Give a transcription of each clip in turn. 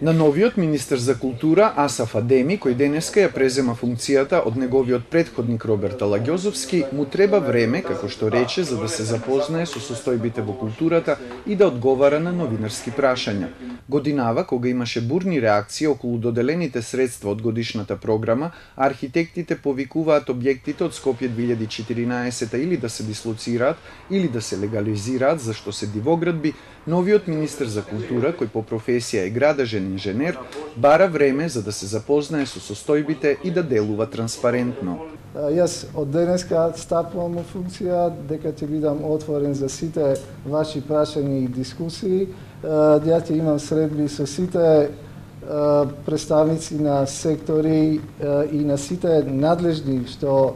На новиот министер за култура Асаф Адеми, кој денеска ја презема функцијата од неговиот претходник Роберт Алагјозовски, му треба време, како што рече, за да се запознае со состојбите во културата и да одговара на новинарски прашања. Годинава, кога имаше бурни реакции околу доделените средства од годишната програма, архитектите повикуваат објектите од Скопје 2014 или да се дислоцираат, или да се легализираат, зашто се дивоградби, новиот министер за култура, кој по професија е градежен инженер, бара време за да се запознае со состојбите и да делува транспарентно. Јас од денеска стапувам во функција дека ќе бидам отворен за сите ваши прашања и дискусии. Ја ќе имам средби со сите представници на сектори и на сите надлежни што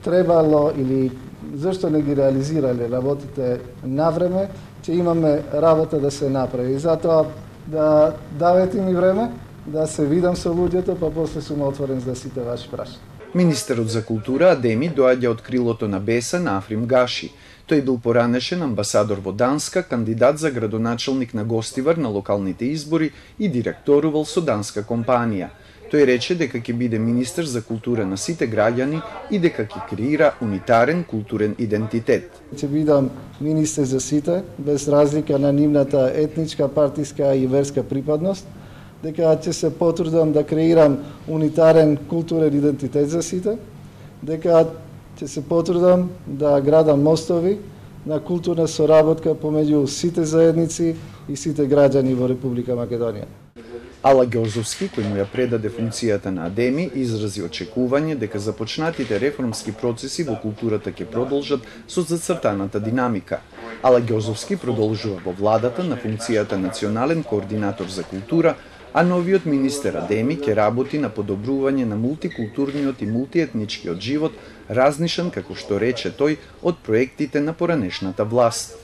требало или зашто не ги реализирале работите на време, ќе имаме работа да се направи. Затоа да давате ми време да се видам со луѓето, па после сум отворен за сите ваши прашања. Министерот за култура Адеми доаѓа од крилото на Беса на Африм Гаши. Тој бил поранешен амбасадор во Данска, кандидат за градоначелник на Гостивар на локалните избори и директорувал со данска компанија. Тој рече дека ќе биде министер за култура на сите граѓани и дека ќе креира унитарен културен идентитет. Ќе бидам министер за сите, без разлика на нивната етничка, партиска и верска припадност, дека ќе се потрудам да креирам унитарен културен идентитет за сите, дека ќе се потрудам да градам мостови на културна соработка помеѓу сите заедници и сите граѓани во Република Македонија. Алагјозовски, кој му ја предаде функцијата на Адеми, изрази очекување дека започнатите реформски процеси во културата ќе продолжат со зацртаната динамика. Алагјозовски продолжува во владата на функцијата национален координатор за култура, а новиот министер Адеми ќе работи на подобрување на мултикултурниот и мултиетничкиот живот, разнишен, како што рече тој, од проектите на поранешната власт.